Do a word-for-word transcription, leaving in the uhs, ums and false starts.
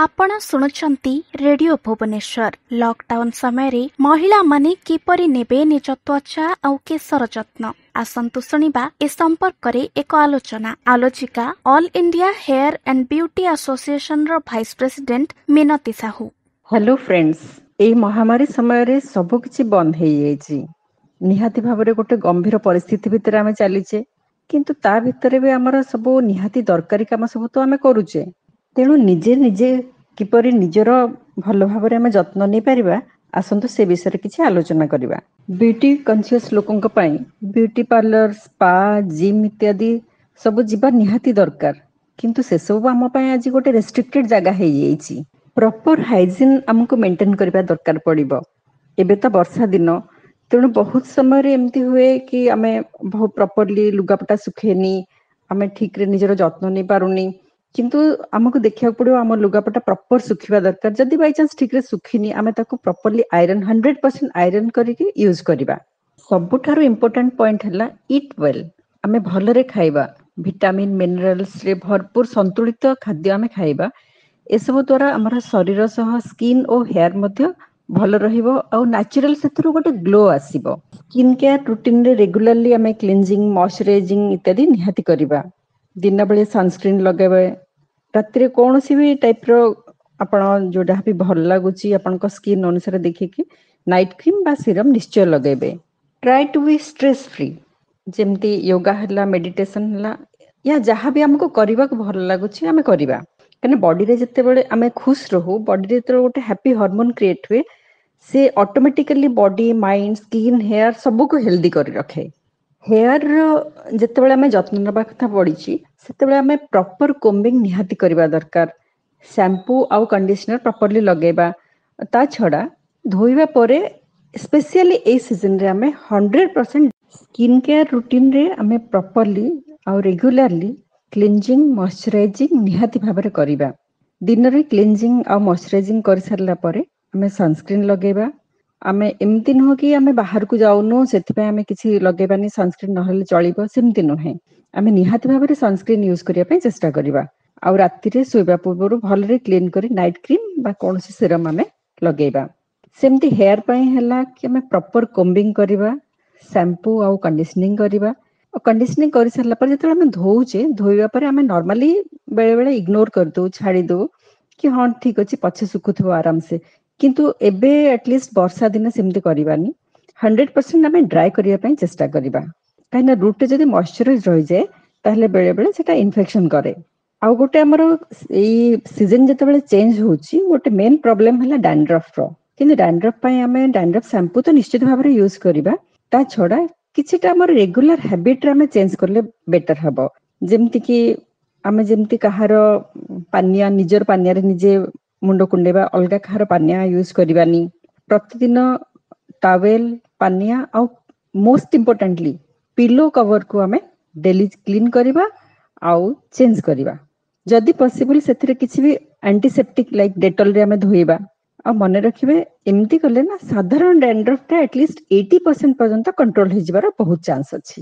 ଆପଣ ଶୁଣୁଛନ୍ତି radio Bhubaneswar. Lockdown ସମୟରେ ମହିଳାମାନେ କିପରି ନେବେ ନିଜ ତ୍ୱଚା ଆଉ କେଶର ଯତ୍ନ, ଆସନ୍ତୁ ଶୁଣିବା ଏ ସମ୍ପର୍କରେ ଏକ ଆଲୋଚନା। ଆଲୋଚିକା all India hair and beauty ଆସୋସିଏସନର vice president Minati Sahu. Hello friends, ଏଇ ମହାମାରୀ ସମୟରେ ସବୁ କିଛି ବନ୍ଦ ହେଇଯାଇଛି। ନିହାତି ଭାବରେ ଗୋଟେ ଗମ୍ଭୀର ପରିସ୍ଥିତି ଭିତରେ ଆମେ ଚାଲିଛେ, କିନ୍ତୁ ତା ଭିତରେ ବି ଆମର ସବୁ ନିହାତି ଦରକାରୀ କାମ ସବୁ ତ ଆମେ କରୁଛେ। ତେଣୁ ନିଜେ ନିଜେ କିପରି ନିଜର ଭଲ ଭାବରେ ଆମେ ଯତ୍ନ ନେଇପାରିବା, ଆସନ୍ତୁ ସେ ବିଷୟରେ କିଛି ଆଲୋଚନା କରିବା। ବ୍ୟୁଟି କନସିୟସ୍ ଲୋକଙ୍କ ପାଇଁ ବ୍ୟୁଟି ପାର୍ଲର, ସ୍ପା, ଜିମ୍ ଇତ୍ୟାଦି ସବୁ ଯିବା ନିହାତି ଦରକାର, କିନ୍ତୁ ସେସବୁ ଆମ ପାଇଁ ଆଜି ଗୋଟେ ରେଷ୍ଟ୍ରିକ୍ଟେଡ୍ ଜାଗା ହେଇଯାଇଛି। ପ୍ରପର ହାଇଜିନ୍ ଆମକୁ ମେଣ୍ଟେନ୍ କରିବା ଦରକାର ପଡ଼ିବ। ଏବେ ତ ବର୍ଷା ଦିନ, ତେଣୁ ବହୁତ ସମୟରେ ଏମିତି ହୁଏ କି ଆମେ ବହୁତ ପ୍ରପରଲି ଲୁଗାପଟା ଶୁଖେନି, ଆମେ ଠିକରେ ନିଜର ଯତ୍ନ ନେଇପାରୁନି। କିନ୍ତୁ ଆମକୁ ଦେଖିବାକୁ ପଡ଼ିବ ଆମ ଲୁଗାପଟା ପ୍ରପର ଶୁଖିବା ଦରକାର। ଯଦି ବାଇଚାନ୍ସ ଠିକରେ ଶୁଖିନି, ଆମେ ତାକୁ properly iron, hundred percent iron କରିକି ୟୁଜ୍ କରିବା। ସବୁଠାରୁ ଇମ୍ପୋର୍ଟାଣ୍ଟ ପଏଣ୍ଟ ହେଲା ଇଟ୍ ୱେଲ୍। ଆମେ ଭଲରେ ଖାଇବା, ଭିଟାମିନ୍ ମିନେରାଲ୍ସରେ ଭରପୁର ସନ୍ତୁଳିତ ଖାଦ୍ୟ ଆମେ ଖାଇବା। ଏସବୁ ଦ୍ୱାରା ଆମର ଶରୀର ସହ ସ୍କିନ୍ ଓ ହେୟାର ମଧ୍ୟ ଭଲ ରହିବ ଆଉ ନ୍ୟାଚୁରାଲ ସେଥିରୁ ଗୋଟେ ଗ୍ଲୋ ଆସିବ। ସ୍କିନ୍ କେୟାର ରୁଟିନରେ ରେଗୁଲାରଲି ଆମେ କ୍ଲିନଜିଂ, ମଏଶ୍ଚରାଇଜିଂ ଇତ୍ୟାଦି ନିହାତି କରିବା। ଦିନବେଳେ ସନସ୍କ୍ରିନ୍ ଲଗାଇବା, ରାତିରେ କୌଣସି ବି ଟାଇପ୍ର ଆପଣ ଯୋଉଟା ବି ଭଲ ଲାଗୁଛି ଆପଣଙ୍କ ସ୍କିନ୍ ଅନୁସାରେ ଦେଖିକି ନାଇଟ୍ କ୍ରିମ୍ ବା ସିରମ୍ ନିଶ୍ଚୟ ଲଗାଇବେ। Try to be stress free, ଯେମିତି ୟୋଗା ହେଲା, ମେଡିଟେସନ ହେଲା, ୟା ଯାହା ବି ଆମକୁ କରିବାକୁ ଭଲ ଲାଗୁଛି ଆମେ କରିବା। କାହିଁକିନା ବଡିରେ ଯେତେବେଳେ ଆମେ ଖୁସ ରହୁ, ବଡିରେ ଯେତେବେଳେ ଗୋଟେ ହ୍ୟାପି ହରମୋନ କ୍ରିଏଟ୍ ହୁଏ, ସେ automatically body, mind, skin, hair ସବୁକୁ ହେଲ୍ଦି କରି ରଖେ। ହେୟାରର ଯେତେବେଳେ ଆମେ ଯତ୍ନ ନେବା କଥା ପଡ଼ିଛି, ସେତେବେଳେ ଆମେ ପ୍ରପର କୋମ୍ବିଂ ନିହାତି କରିବା ଦରକାର। ଶ୍ୟାମ୍ପୁ ଆଉ କଣ୍ଡିସନର ପ୍ରପରଲି ଲଗେଇବା। ତା ଛଡ଼ା ଧୋଇବା ପରେ ସ୍ପେସିଆଲି ଏଇ ସିଜନରେ ଆମେ ହଣ୍ଡ୍ରେଡ ପରସେଣ୍ଟ ସ୍କିନ୍ କେୟାର ରୁଟିନରେ ଆମେ ପ୍ରପରଲି ଆଉ ରେଗୁଲାରଲି କ୍ଲିନଜିଂ, ମଏଶ୍ଚରାଇଜିଂ ନିହାତି ଭାବରେ କରିବା। ଦିନରେ କ୍ଲିନଜିଂ ଆଉ ମଏଶ୍ଚରାଇଜିଂ କରିସାରିଲା ପରେ ଆମେ ସନସ୍କ୍ରିନ୍ ଲଗେଇବା। ଆମେ ଏମିତି ନୁହଁ କି ଆମେ ବାହାରକୁ ଯାଉନୁ ସେଥିପାଇଁ ଆମେ କିଛି ଲଗେଇବାନି, ସନସ୍କ୍ରିନ୍ ନହେଲେ ଚଳିବ, ସେମିତି ନୁହେଁ। ଆମେ ନିହାତି ଭାବରେ ସନସ୍କ୍ରିନ୍ ୟୁଜ୍ କରିବା ପାଇଁ ଚେଷ୍ଟା କରିବା। ଆଉ ରାତିରେ ଶୋଇବା ପୂର୍ବରୁ ଭଲରେ କ୍ଲିନ୍ କରି ନାଇଟ୍ କ୍ରିମ୍ ବା କୌଣସି ସିରମ୍ ଆମେ ଲଗେଇବା। ସେମିତି ହେୟାର ପାଇଁ ହେଲା କି ଆମେ ପ୍ରପର କୋମ୍ବିଂ କରିବା, ଶ୍ୟାମ୍ପୁ ଆଉ କଣ୍ଡିସନିଂ କରିବା। ଆଉ କଣ୍ଡିସନିଂ କରିସାରିଲା ପରେ ଯେତେବେଳେ ଆମେ ଧୋଉଛେ, ଧୋଇବା ପରେ ଆମେ ନର୍ମାଲି ବେଳେବେଳେ ଇଗ୍ନୋର କରିଦଉ, ଛାଡ଼ି ଦଉ କି ହଁ ଠିକ ଅଛି ପଛେ ଶୁଖୁଥିବ ଆରାମସେ। କିନ୍ତୁ ଏବେ ଆଟଲିଷ୍ଟ ବର୍ଷା ଦିନେ ସେମିତି କରିବାନି। ହଣ୍ଡ୍ରେଡ ପରସେଣ୍ଟ ଆମେ ଡ୍ରାଏ କରିବା ପାଇଁ ଚେଷ୍ଟା କରିବା। କାହିଁକିନା ରୁଟ୍ରେ ଯଦି ମଏଶ୍ଚରାଇଜ ରହିଯାଏ ତାହେଲେ ବେଳେବେଳେ ସେଟା ଇନଫେକ୍ସନ କରେ। ଆଉ ଗୋଟେ ଆମର ଏଇ ସିଜନ ଯେତେବେଳେ ଚେଞ୍ଜ ହଉଛି, ଗୋଟେ ମେନ୍ ପ୍ରୋବ୍ଲେମ ହେଲା ଡାଣ୍ଡ୍ରଫର। କିନ୍ତୁ ଡାଣ୍ଡ୍ରଫ ପାଇଁ ଆମେ ଡାଣ୍ଡ୍ରଫ ଶ୍ୟାମ୍ପୁ ତ ନିଶ୍ଚିତ ଭାବରେ ୟୁଜ୍ କରିବା, ତା ଛଡ଼ା କିଛିଟା ଆମର ରେଗୁଲାର ହ୍ୟାବିଟରେ ଆମେ ଚେଞ୍ଜ କଲେ ବେଟର ହବ। ଯେମିତିକି ଆମେ ଯେମିତି କାହାର ପାନିଆ, ନିଜର ପାନିଆରେ ନିଜେ ମୁଣ୍ଡ କୁଣ୍ଡେଇବା, ଅଲଗା କାହାର ପାନିଆ ୟୁଜ୍ କରିବାନି। ପ୍ରତିଦିନ ଟାୱେଲ, ପାନିଆ ଆଉ ମୋଷ୍ଟ ଇମ୍ପୋର୍ଟାଣ୍ଟଲି ପିଲୋ କଭରକୁ ଆମେ ଡେଲି କ୍ଲିନ୍ କରିବା ଆଉ ଚେଞ୍ଜ କରିବା। ଯଦି ପସିବଲ ସେଥିରେ କିଛି ବି ଆଣ୍ଟିସେପ୍ଟିକ ଲାଇକ୍ ଡେଟଲରେ ଆମେ ଧୋଇବା। ଆଉ ମନେ ରଖିବେ ଏମିତି କଲେ ନା ସାଧାରଣ ଡ୍ୟାଣ୍ଡ୍ରଫଟା ଆଟଲିଷ୍ଟ ଏଇଟି ପରସେଣ୍ଟ ପର୍ଯ୍ୟନ୍ତ କଣ୍ଟ୍ରୋଲ ହେଇଯିବାର ବହୁତ ଚାନ୍ସ ଅଛି।